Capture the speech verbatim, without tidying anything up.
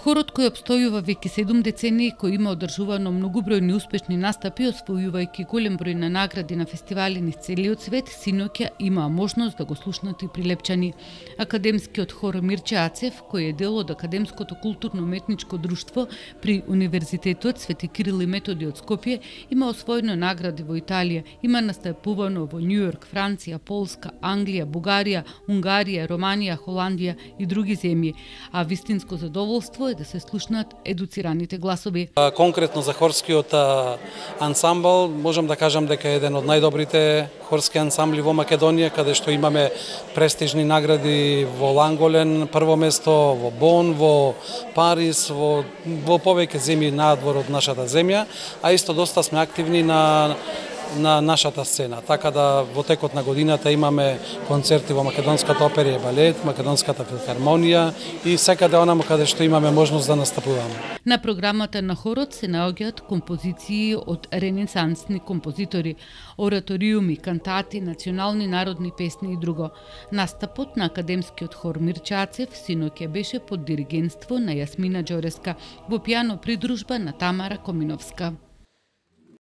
Хорот кој обстојува веќе седум децении, кој има одржувано многубројни успешни настапи, освојувајќи голем број на награди на фестивали низ целиот свет, синоќа имаа можност да го слушнат и прилепчани. Академскиот хор Мирче Ацев, кој е дел од Академското културно-уметничко друштво при Универзитетот Свети Кирил и Методи од Скопје, има освоено награди во Италија, има настапувано во Њујорк, Франција, Полска, Англија, Бугарија, Унгарија, Романија, Холандија и други земји, а вистинско задоволство е да се слушнат едуцираните гласови. Конкретно за хорскиот ансамбл, можам да кажам дека е еден од најдобрите хорски ансамбли во Македонија, каде што имаме престижни награди во Ланголен, прво место во Бон, во Париз, во, во повеќе земји надвор од нашата земја, а исто доста сме активни на на нашата сцена. Така да во текот на годината имаме концерти во Македонската опера и балет, Македонската филхармонија и секаде онаму каде што имаме можност да настапуваме. На програмата на хорот се наоѓаат композиции од ренесансни композитори, ораториуми, кантати, национални народни песни и друго. Настапот на академскиот хор Мирче Ацев синоќа беше под диригентство на Јасмина Џореска во пијано придружба на Тамара Коминовска.